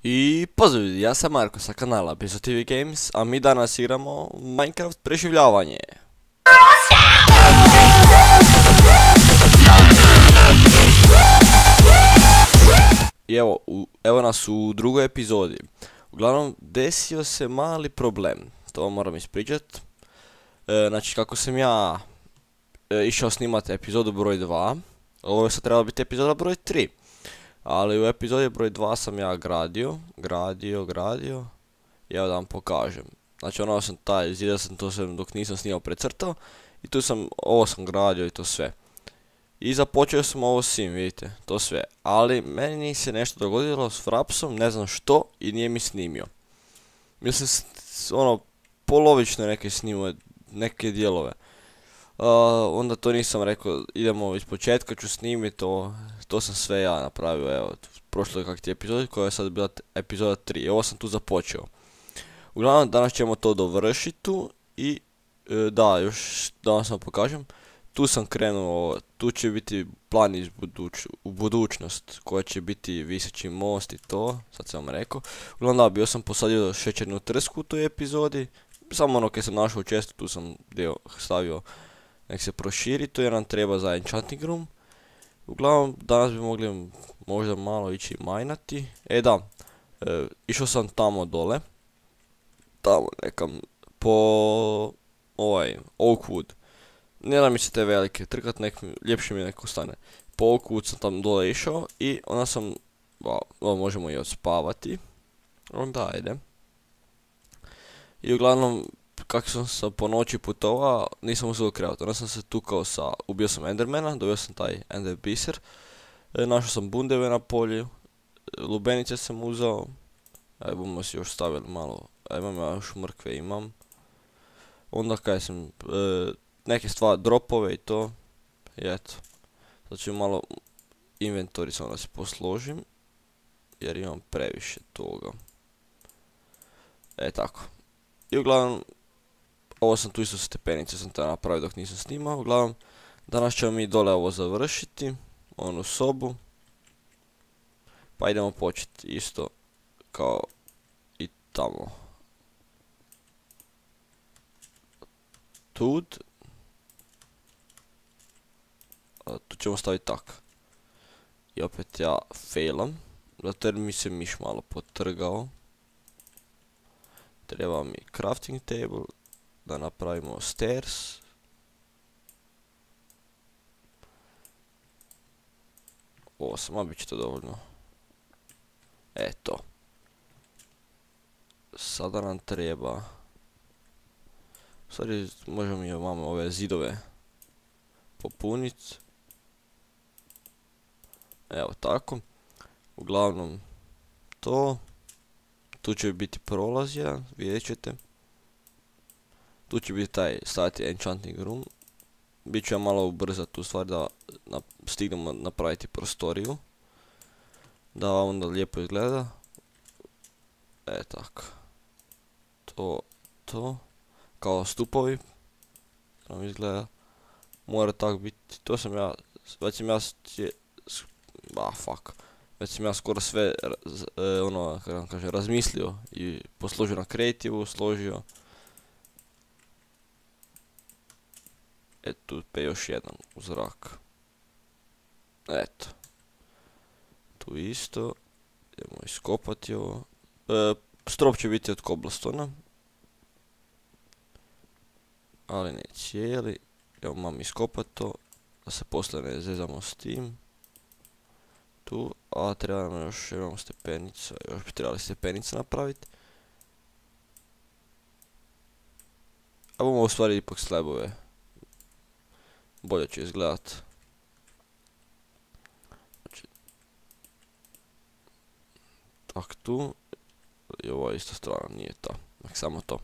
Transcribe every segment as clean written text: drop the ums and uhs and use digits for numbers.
I pozdrav ljudi, ja sam Marko sa kanala Bizo TV Games, a mi danas igramo Minecraft preživljavanje. I evo nas u drugoj epizodi. Uglavnom, desio se mali problem, to vam moram ispričat. Znači, kako sam ja išao snimati epizodu broj 2, ovo je sad trebala biti epizoda broj 3. Ali u epizodi broj 2 sam ja gradio. I evo da vam pokažem. Znači ono sam zidao sam to sve dok nisam snimao precrtao. I tu sam, ovo sam gradio i to sve. I započeo sam ovo sim, vidite, to sve. Ali meni se nešto dogodilo s Frapsom, ne znam što, i nije mi snimio. Mislim, ono, polovično neke snimuje, neke dijelove. Onda to nisam rekao, idemo iz početka, ću snimiti, to sam sve ja napravio, evo, prošlo je kak ti epizodi, koja je sad bila epizoda 3, ovo sam tu započeo. Uglavnom, danas ćemo to dovršiti tu i, da, još danas vam pokažem, tu sam krenuo, tu će biti plan u budućnost, koja će biti viseći most i to, sad sam vam rekao. Uglavnom, da, bio sam posadio šećernu trsku u toj epizodi, samo ono kad sam našao često, tu sam dio stavio. Nek se proširi, to jer nam treba za enchanting room. Uglavnom, danas bi mogli možda malo ići majnati. Da, išao sam tamo dole. Tamo nekam, po Oakwood. Ne da mi se te velike trkat, ljepše mi neko stane. Po Oakwood sam tam dole išao i onda sam, možemo i odspavati. Onda ajde. I uglavnom, kako sam po noći putovao, nisam uzeo krevat. Onda sam se tukao ubio sam Endermana, dobio sam taj Ender biser. Našao sam bundeve na polju, lubenice sam uzeo. Bomo si još stavili malo, imam ja još mrkve imam. Onda kaj sam, neke stvari, dropove i to. I eto, sad ću malo inventory samo da se posložim, jer imam previše toga. Tako. I uglavnom, ovo sam tu isto stepenice sam to napravio dok nisam snimao. Uglavnom, danas ćemo mi dole ovo završiti, onu sobu. Pa idemo početi isto kao i tamo. Tu ćemo staviti tak. I opet ja failam, zato jer mi se miš malo potrgao. Treba mi crafting table, da napravimo stairs. A bit će to dovoljno. Eto. Sada nam treba... U stvari možemo i ove zidove popuniti. Evo tako. Uglavnom to. Tu će biti prolaz jedan, vidjet ćete. Tu će biti staviti enchanting room. Biću ja malo ubrzati tu stvar da stignemo napraviti prostoriju. Da onda lijepo izgleda. Tako. To. Kao stupovi. Nam izgleda. Mora tako biti. To sam ja, već sam ja, već sam ja skoro sve, kako vam kaže, razmislio i posložio na creative, složio. Tu pe još jedan u zrak. Eto. Tu isto. Idemo iskopati ovo. Strop će biti od cobblestona. Ali ne cijeli. Evo mam iskopati to. Da se poslije ne zezamo s tim. Tu, a treba nam još, imamo stepenica, još bi trebali stepenice napraviti. A bomo u stvari ipak slabove. Bolje će izgledat. Znači, tak tu. I ova ista strana nije ta, samo to.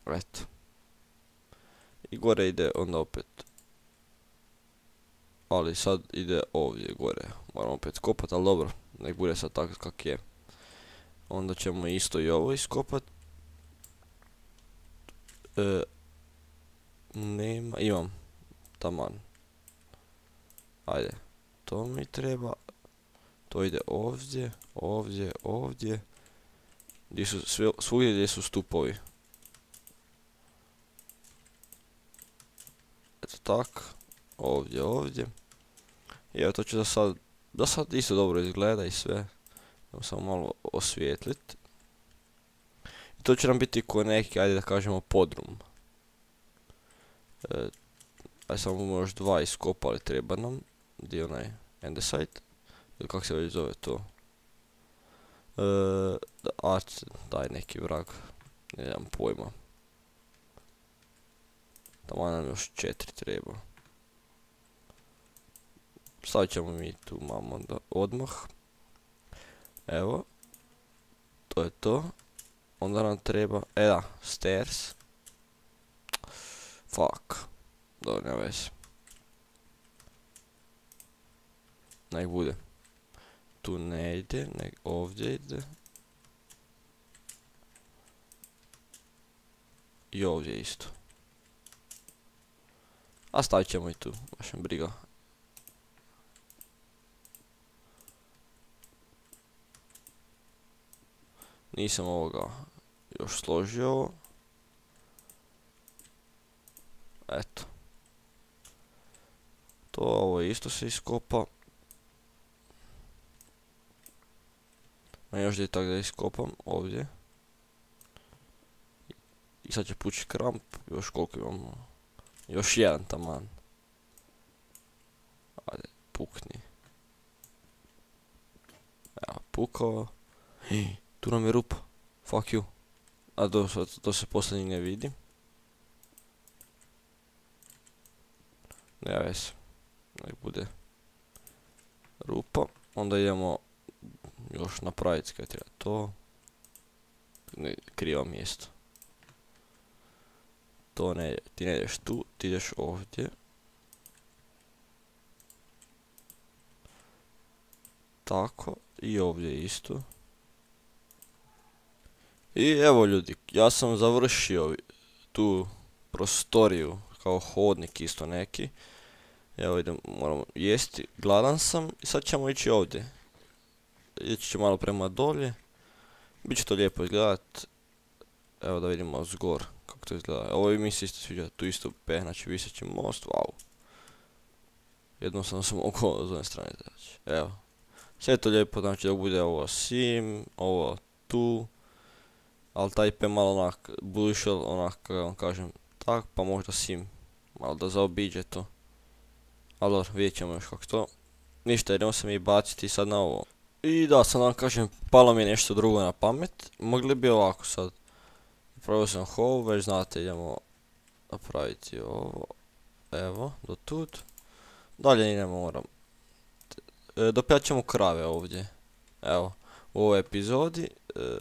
Eto. I gore ide onda opet. Ali sad ide ovdje gore, moramo opet skopat, ali dobro, nek bude sad tako kak je. Onda ćemo isto i ovo iskopat. Nema, imam, taman. Ajde, to mi treba, To ide ovdje, ovdje, ovdje. Svugdje gdje su stupovi. Eto tak. Ovdje, ovdje. I evo to će da sad isto dobro izgleda i sve. Samo malo osvijetlit. I to će nam biti ko neki, ajde da kažemo, podrum. Ajde samo još 2 iskopali treba nam. Gdje je onaj andesite? Ili kak se već zove to? Daj neki vrag. Nemam pojma. Tamo nam još 4 treba. Stavit ćemo mi tu mamo odmah. Evo. To je to. Onda nam treba, da, stairs. Fuck. Dobro, nema veze. Nek bude. Tu ne ide, nek ovdje ide. I ovdje isto. A stavit ćemo i tu, baš me briga. Nisam ovoga još složio. Eto. Ovo isto se iskopa. A još da je tako da iskopam ovdje. I sad će pući kramp. Još koliko imamo? Još jedan taman. Ajde, pukni. Evo, pukao. Tu nam je rupa. Fuck you. A to se posljednji ne vidi. Ne veze. Nek bude rupa. Onda idemo još napraviti kaj treba to. Krivo mjesto. To ne, ti ne ideš tu, ti ideš ovdje. Tako, i ovdje isto. I evo ljudi, ja sam završio tu prostoriju kao hodnik isto neki. Evo idem, moramo jesti, gladan sam i sad ćemo ići ovdje. Ići ću malo prema dolje. Biće to lijepo izgledat. Evo da vidimo zgor kako to izgleda. Ovo mi se isto sviđa, tu isto znači viseći most, wow. Jednostavno sam oko s one strane znači. Evo. Sve je to lijepo, znači da bude ovo sim, ovo tu. Ali taj IP malo onak, bušel, onak, kako vam kažem, tak, pa možda sim, malo da zaobiđe to. Ali dobro, vidjet ćemo još kako to. Ništa, idemo se mi baciti sad na ovo. I da, sad vam kažem, palo mi je nešto drugo na pamet. Mogli bi ovako sad. Napravio sam hove, već znate, idemo napraviti ovo. Evo, do tud. Dalje ne moram. Dopijat ćemo krave ovdje. Evo, u ovoj epizodi.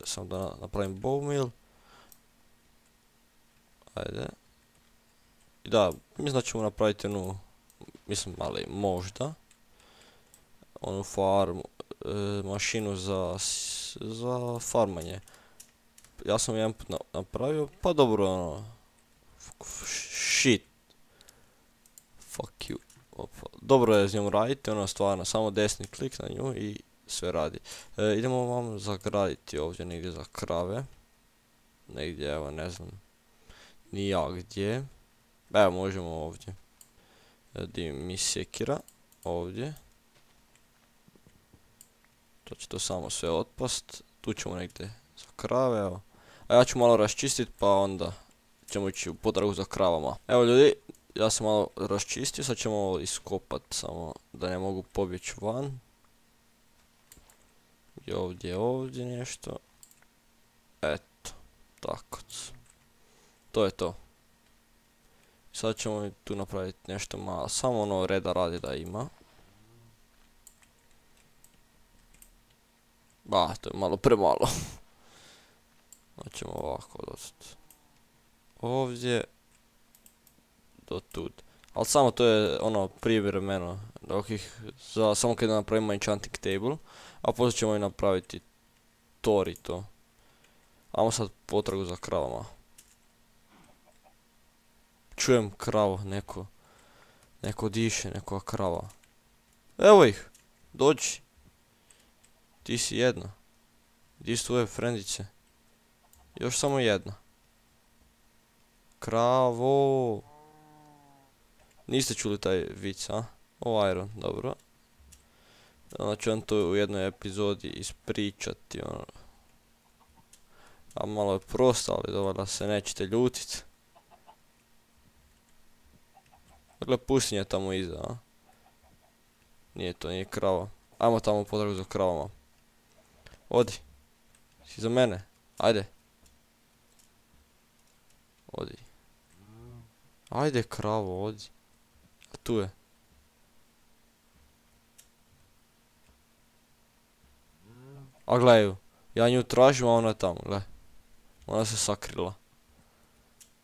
Samo da napravim bowmeal. Ajde. I da, mislim da ćemo napraviti jednu, mislim, ali možda. Onu farmu, mašinu za farmanje. Ja sam jedan put napravio, pa dobro ono. Shit. Fuck you. Opa. Dobro je s njom raditi, ona stvarno, samo desni klik na nju i sve radi. Idemo vam zagraditi ovdje negdje za krave. Negdje, evo, ne znam. Ni ja gdje. Evo, možemo ovdje. Di mi sekira. Ovdje. To će to samo sve otpast. Tu ćemo negdje za krave, evo. A ja ću malo raščistit pa onda ćemo ići u potragu za kravama. Evo ljudi, ja sam malo raščistio, sad ćemo ovo iskopat samo da ne mogu pobjeći van. I ovdje nešto. Eto, tako. To je to. Sad ćemo tu napraviti nešto malo, samo ono reda radi da ima. Ba, to je malo premalo. Hoćemo ovako dosta. Ovdje. Do tud. Ali samo to je ono privremeno. Dok ih, samo kada napravimo enchanting table. A poslije ćemo i napraviti tor i to. Ajmo sad potragu za kravama. Čujem kravu, neko diše, nekoga krava. Evo ih, dođi. Ti si jedna. Gdje su tvoje frendice? Još samo jedna. Kravo. Niste čuli taj vic, a? O Iron, dobro. Onda ću vam to u jednoj epizodi ispričati, ono. A malo je prosto, ali dobro da se nećete ljutit. Dakle, pustinja tamo iza, a? Nije to, nije krava. Ajmo tamo potragu za kravama. Odi. Si za mene? Ajde. Odi. Ajde kravo, odi. A tu je. A gledaj ju. Ja nju tražim, a ona je tamo, gledaj. Ona se sakrila.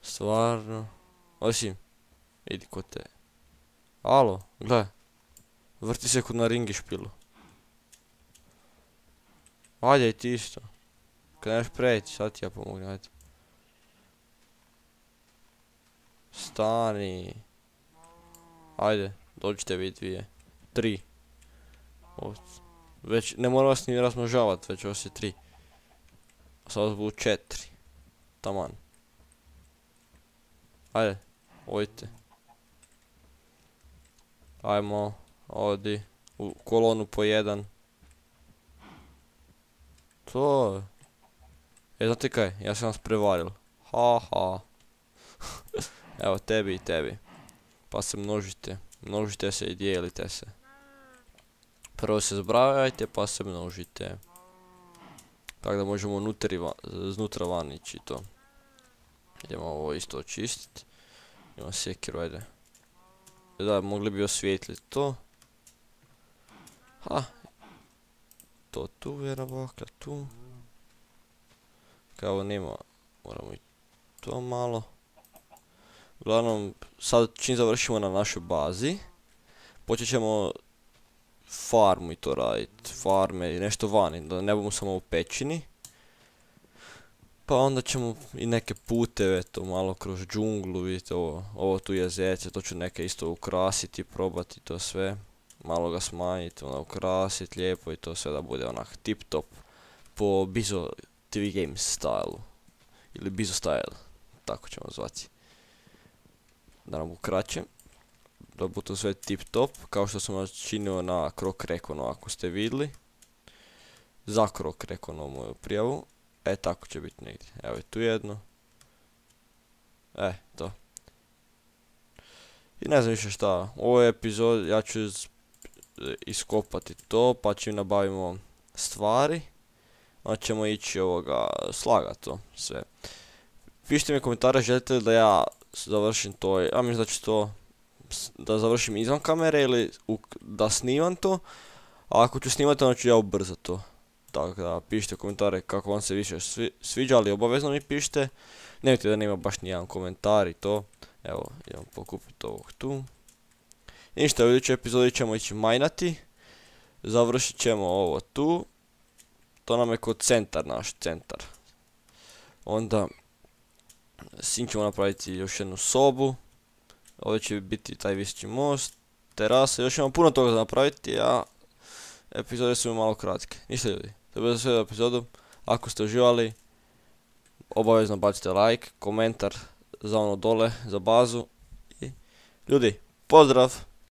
Stvarno. Osim. Idi kod te. Alo, gledaj. Vrti se kod na ringi špilu. Ajde i ti isto. Kad nemaš preći, sad ti ja pomognem, ajde. Stani. Ajde, dođite vi dvije. 3. Već, ne mora vas ni razmnožavat, već vas je 3. A sad vas budu 4. Taman. Ajde, odite. Ajmo, odi. U kolonu po 1. To je. Znate kaj, ja sam vas prevaril. Ha. Evo, tebi i tebi. Pa se množite. Množite se i dijelite se. Prvo se zbrajajte pa se množite. Tako da možemo znutra van ići to. Idemo ovo isto očistiti. Imam sjekiru, ajde. Da, mogli bi osvijetliti to. Ha. To tu, jedna bakla tu. Kao nema, moramo i to malo. Uglavnom, sad čim završimo na našoj bazi, počet ćemo farmu i to raditi, farme i nešto vani, da ne budemo samo u pećini. Pa onda ćemo i neke puteve, to malo kroz džunglu, vidite ovo tu jezerce, to ću neke isto ukrasiti, probati to sve. Malo ga smanjiti, onda ukrasiti lijepo i to sve da bude onak tip top po Bizo TV Games stylu. Ili Bizo style, tako ćemo zvati. Da nam ukraće. Da bude to sve tip top, kao što sam načinio na Krok Rekonu, ako ste vidjeli. Za Krok Rekonu moju prijavu. Tako će biti negdje. Evo je tu jedno. To. I ne znam više šta. U ovoj epizodi ja ću iskopati to, pa ćemo nabavimo stvari. Onda ćemo ići slagati to sve. Pišite mi komentare, želite li da ja završim to, ja mislim da ću to da završim izvan kamere ili da snimam to. A ako ću snimati, onda ću ja ubrzati to. Tako da pišite komentare kako vam se više sviđa, ali obavezno mi pišite. Nemojte da nema baš nijedan komentar i to. Evo, idemo pokupiti ovog tu. I ništa, u idućoj epizodi ćemo ići majnati. Završit ćemo ovo tu. To nam je kod centar, naš centar. Onda sin ćemo napraviti još jednu sobu. Ovdje će biti taj viseći most, terasa, još imamo puno toga za napraviti, a epizode su mi malo kratke. Ništa ljudi, to je bilo za sve epizodu. Ako ste uživali, obavezno bacite like, komentar za ono dole, za bazu. I ljudi, pozdrav!